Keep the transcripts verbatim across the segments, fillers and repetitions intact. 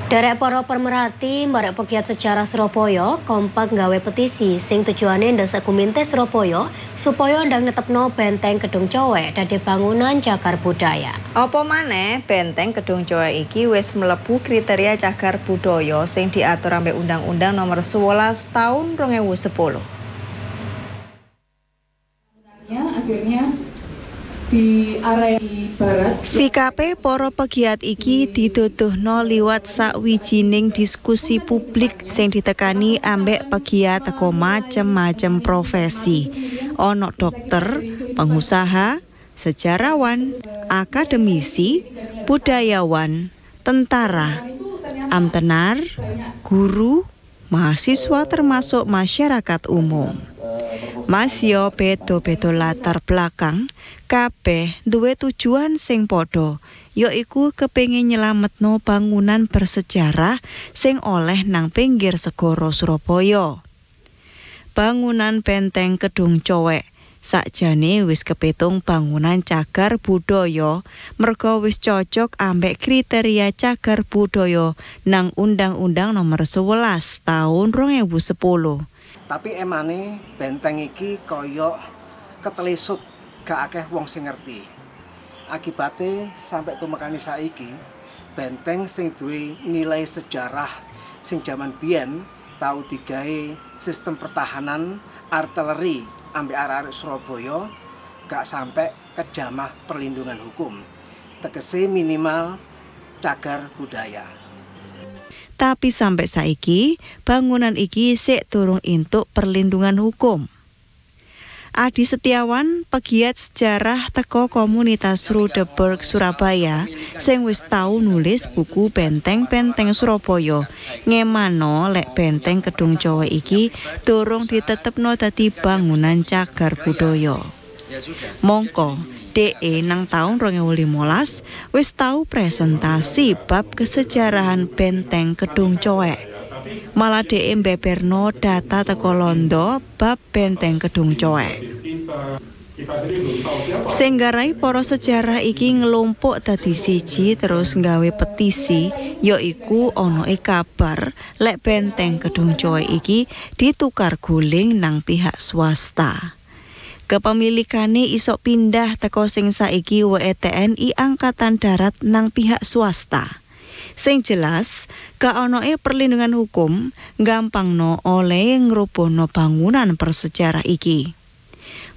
Derek para pemerhati barek pegiat sejarah Surabaya kompak nggawe petisi sing tujuane ndesek Guminte Surabaya supaya ndang netepno Benteng Kedung Cowek dadi bangunan cagar budaya. Apa maneh Benteng Kedung Cowek iki wis mlebu kriteria cagar budaya sing diatur ambek Undang-Undang Nomor sewelas Tahun rong ewu sepuluh. Akhirnya di area di barat. Sikape para pegiat iki diduduhno liwat sakwijining diskusi publik sing ditekani ambek pegiat teko macem-macem profesi. Ono dokter, pengusaha, sejarawan, akademisi, budayawan, tentara, amtenar, guru, mahasiswa termasuk masyarakat umum. Masio beda-beda latar belakang, kabeh duwe tujuan sing padha, yaiku kepengin nyelametno bangunan bersejarah sing oleh nang pinggir segara Surabaya. Bangunan Benteng Kedung Cowek sakjane wis kepitung bangunan cagar budaya merga wis cocok ambek kriteria cagar budaya nang Undang-Undang Nomor sewelas Tahun rong ewu sepuluh. Tapi emane benteng iki koyok ketelisut, gak akeh wong sing ngerti. Akibate sampai tumekani saiki, benteng sing duwe nilai sejarah sing jaman biyen tau digawe sistem pertahanan artileri ambek arek-arek Surabaya gak sampai kejamah perlindungan hukum. Tegese minimal cagar budaya. Tapi sampai saiki bangunan iki sik durung entuk perlindungan hukum. Adi Setiawan, pegiat sejarah teko komunitas Rudeburg Surabaya, sing wis tau nulis buku Benteng-Benteng Surabaya, ngemano lek Benteng Kedung Cowek iki durung ditetepno dadi bangunan cagar budaya. Mongko D E nang tahun rong ewu limolas wis tau presentasi bab kesejarahan Benteng Kedung Cowek. Malah D E mbeberno data teko Londo bab Benteng Kedung Cowek. Sing nggarai para sejarah iki ngelumpuk dadi siji terus nggawe petisi, yaiku onoe kabar lek Benteng Kedung Cowek iki ditukar guling nang pihak swasta. Kepemilikane isok pindah teko sing saiki W E T N I Angkatan Darat nang pihak swasta. Sing jelas, gak onoe perlindungan hukum gampangno oleh ngrubuhno bangunan bersejarah iki.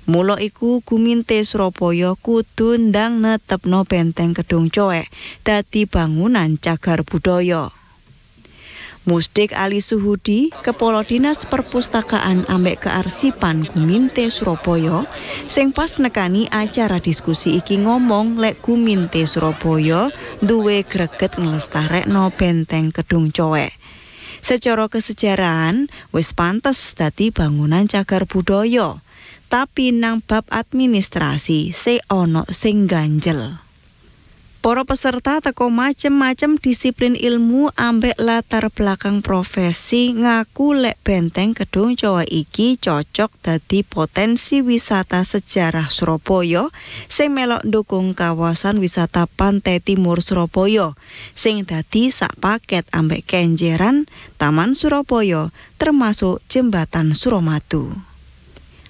Mula iku Guminte Surabaya kudu ndang netepno Benteng Kedung Cowek dadi bangunan cagar budaya. Musdik Ali Suhudi, Kepala Dinas Perpustakaan ambek Kearsipan Guminte Surabaya, sing pas nekani acara diskusi iki ngomong lek Guminte Surabaya duwe greget nglestarekno Benteng Kedung Cowek. Secara kesejarahan wis pantes dadi bangunan cagar budaya, tapi nang bab administrasi se ono sing ganjel. Para peserta teko macem-macem disiplin ilmu ambek latar belakang profesi ngaku lek Benteng Kedung Cowek iki cocok dadi potensi wisata sejarah Surabaya sing melok ndukung kawasan wisata Pantai Timur Surabaya sing dadi sak paket ambek Kenjeran, Taman Surabaya termasuk Jembatan Suramadu.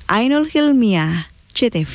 Ainul Hilmiah, J T V.